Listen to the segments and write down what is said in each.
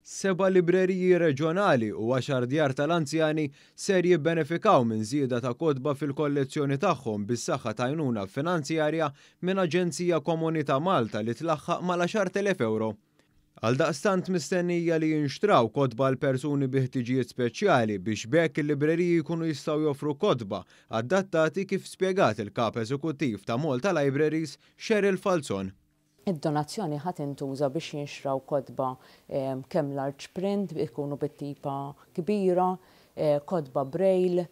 Seba' libreriji reġjonali u għaxar djar tal-anzjani ser jibbenefikaw minn żieda ta' kotba fil-kollezzjoni tagħhom bis-saħħa ta' għajnuna finanzjarja minn Aġenzija Komunità Malta li tlaħħaq mal-10,000 ewro. Għaldaqstant mistennija li jinxtraw kotba għal persuni bi ħtiġijiet speċjali biex b'hekk il-libreriji jkunu jistgħu joffru kotba adattati kif spjegat il-Kap Eżekuttiv ta' Malta Libraries Cheryl Falzon. Id-donazzjoni ħa tintuża biex jinxtraw kotba kemm large print, ikunu bit-tipa kbira, kotba braille,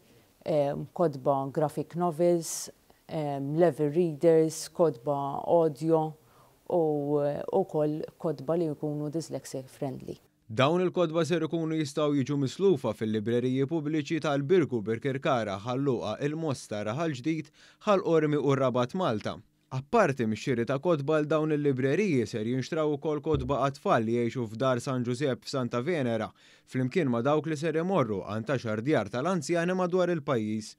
kotba graphic novels, level readers, kotba audio u wkoll kotba li jkunu dyslexia friendly. Dawn il-kotba ser ikunu jistgħu jiġu mislufa fil-libreriji pubbliċi tal-Birgu, Birkirkara, Ħal Luqa, il-Mosta, Raħal Ġdid, Ħal Qormi u r-Rabat Malta. Apparti mix-xiri ta' kotba għal dawn il-libreriji ser jinxtraw ukoll kotba għat-tfal li jgħixu f'Dar San Ġużepp f'Santa Venera, flimkien ma' dawk li ser imorru għand għaxar djar tal-anzjani madwar il-pajjiż.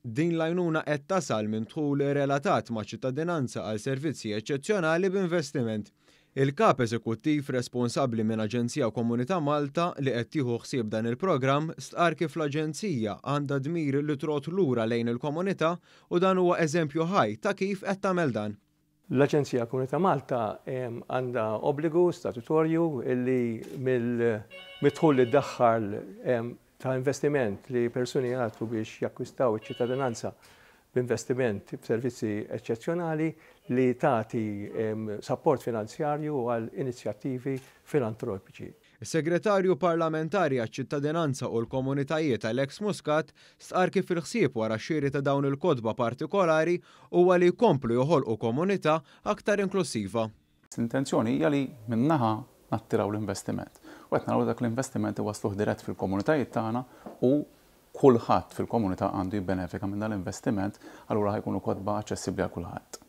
Din l-għajnuna qed tasal minn dħul relatat ma' ċittadinanza għal servizzi eċċezzjonali b'investiment. Il-Kap Eżekuttiv responsabbli minn Aġenzija Komunità Malta li qed tieħu ħsieb dan il-programm stqarr kif l-Aġenzija għandha dmir li trodd lura lejn il-komunità u dan huwa eżempju ħaj ta' kif qed tagħmel dan. L-Aġenzija Komunità Malta għandha obbligu statutorju li mid-dħul li ddaħħal ta' investiment li persuni jagħtu biex jakkwistaw iċ-ċittadinanza b'investiment f'servizzi eċċezzjonali li tagħti sapport finanzjarju għal inizjattivi filantropiċi. Is-Segretarju Parlamentari għaċ-Ċittadinanza u l-Komunitajiet Alex Muscat stqarr kif il-ħsieb wara x-xiri ta' dawn il-kotba partikolari huwa li jkomplu joħolqu komunità aktar inklussiva. L-intenzjoni hija li minn naħa nattiraw l-investiment u qed naraw li dak l-investiment iwassluh dirett fil-komunitajiet tagħna u kulħadd fil-komunità għandu jibbenefika minn dan l-investiment, allura ħa jkunu kotba aċċessibbli għal kulħadd.